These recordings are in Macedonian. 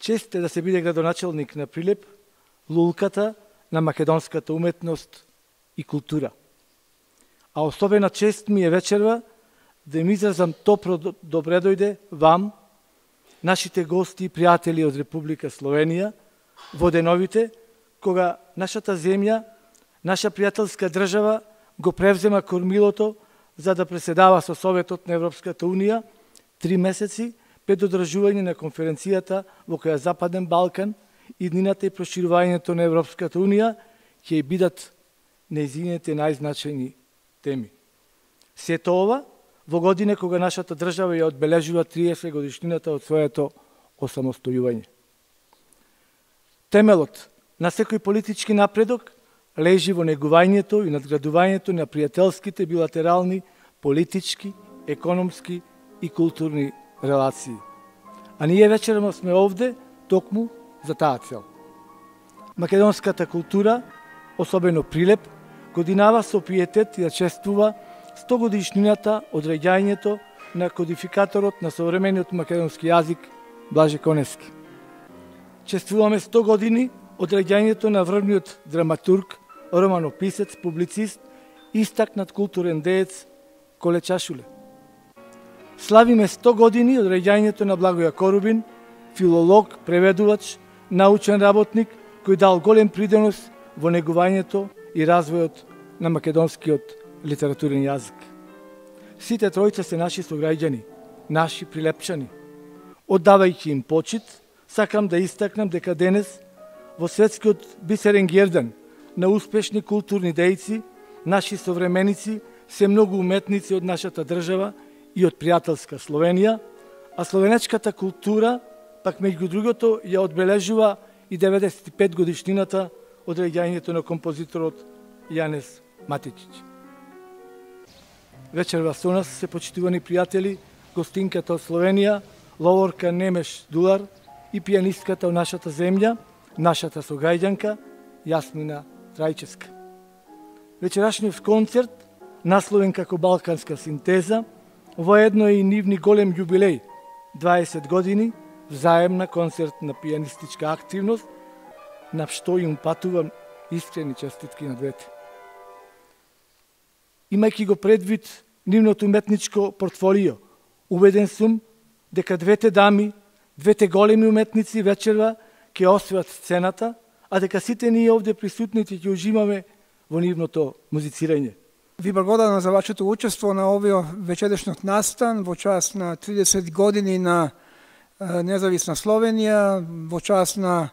Чест е да се биде градоначалник на Прилеп, лулката на македонската уметност и култура. А особена чест ми е вечерва да им изразам топро добре дојде вам, нашите гости и пријатели од Република Словенија, во деновите кога нашата земја, наша пријателска држава го превзема кормилото за да преседава со Советот на Европската Унија 3 месеци пред одржување на конференцијата во која Западен Балкан, иднината и проширувањето на Европската Унија ќе бидат нејзините најзначајни теми. Сето ова во година кога нашата држава ја одбележува 30 годишнината од своето осамостојување. Темелот на секој политички напредок лежи во негувањето и надградувањето на пријателските билатерални, политички, економски и културни релации. А ние вечерма сме овде токму за таа цел. Македонската култура, особено Прилеп, годинава со пиетет и да чествува 100 годишнината од раѓањето на кодификаторот на современиот македонски јазик Блаже Коневски. Чествуваме 100 години од раѓањето на врвниот драматург, романописец, публицист, истакнат културен деец Коле Чашуле. Славиме 100 години од раѓањето на Благоја Корубин, филолог, преведувач, научен работник, кој дал голем придонос во негувањето и развојот на македонскиот литературен јазик. Сите тројца се наши сограѓани, наши прилепчани. Оддавајќи им почит, сакам да истакнам дека денес во светскиот бисерен гердан на успешни културни дејци, наши современици се многу уметници од нашата држава и од пријателска Словенија, а словенечката култура пак меѓу другото ја одбележува и 95 годишнината од раѓањето на композиторот Јанез Матичич. Вечерва со нас се почитувани пријатели, гостинката од Словенија, ловорка Немеш Дулар и пијанистката од нашата земја, нашата сограѓанка Јасмина Трајчевска. Вечерашниот концерт, насловен како Балканска синтеза, воедно е и нивни голем јубилеј, 20 години, взаемна концертна пијанистичка активност, на што им патувам искрени честитки на двете. Имајќи го предвид нивното уметничко портфолио, убеден сум дека двете дами, двете големи уметници вечерва ќе освојат сцената, а дека сите ние овде присутните ќе уживаме во нивното музицирање. Ви благодарам за вашето учество на овој вечерешниот настан во час на 30 години на независна Словенија, во час на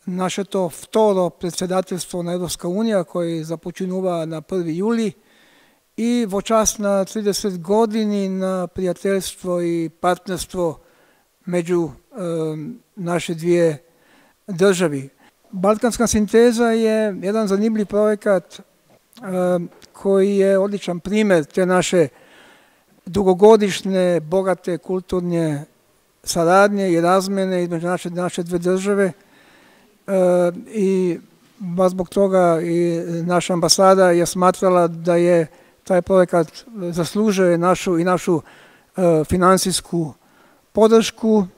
нашето второ председателство на Европска Унија, кој започнува на 1 јули, и во час на 30 години на пријателство и партнерство меѓу наши две држави. Балканска синтеза е еден занимлив проекат кој е одличен пример те наше дугогодишне, богате културни сарадње и размене измеѓу нашите две држави. И баш због тога и наша амбасада ја сматрала да е тај проекат заслужuje нашу финансиску подршку.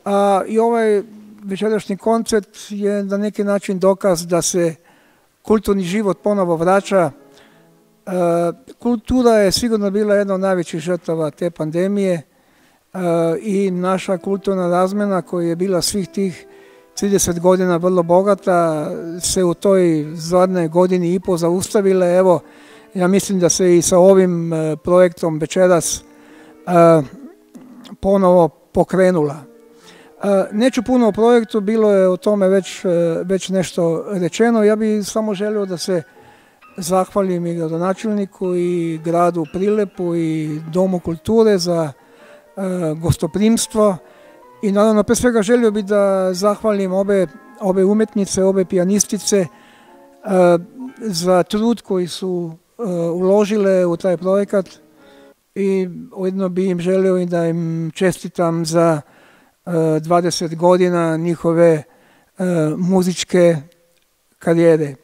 И овај вечерешни концерт е на неки начин доказ да се културни живот поново врача. Култура е сигурно била една од највеќи жртва те пандемije и наша културна размена која е била свих тих 30 година врло богата се у тој задне години и по зауставила. Ево, ја мислим да се и со овим проектом вечерас поново покренула. Нечу пуно о проекту, било е о томе веќе нешто речено. Ја би само желeo да се захвалим и градоначелнику и граду Прилепу и Дому културе за гостопримство. И наравно, пред свега желeo би да захвалим обе уметнице, обе пијанистице за труд кој су уложиле у тај проекат и уедно би им желeo и да им честитам за 20 година нихове музичке кариере.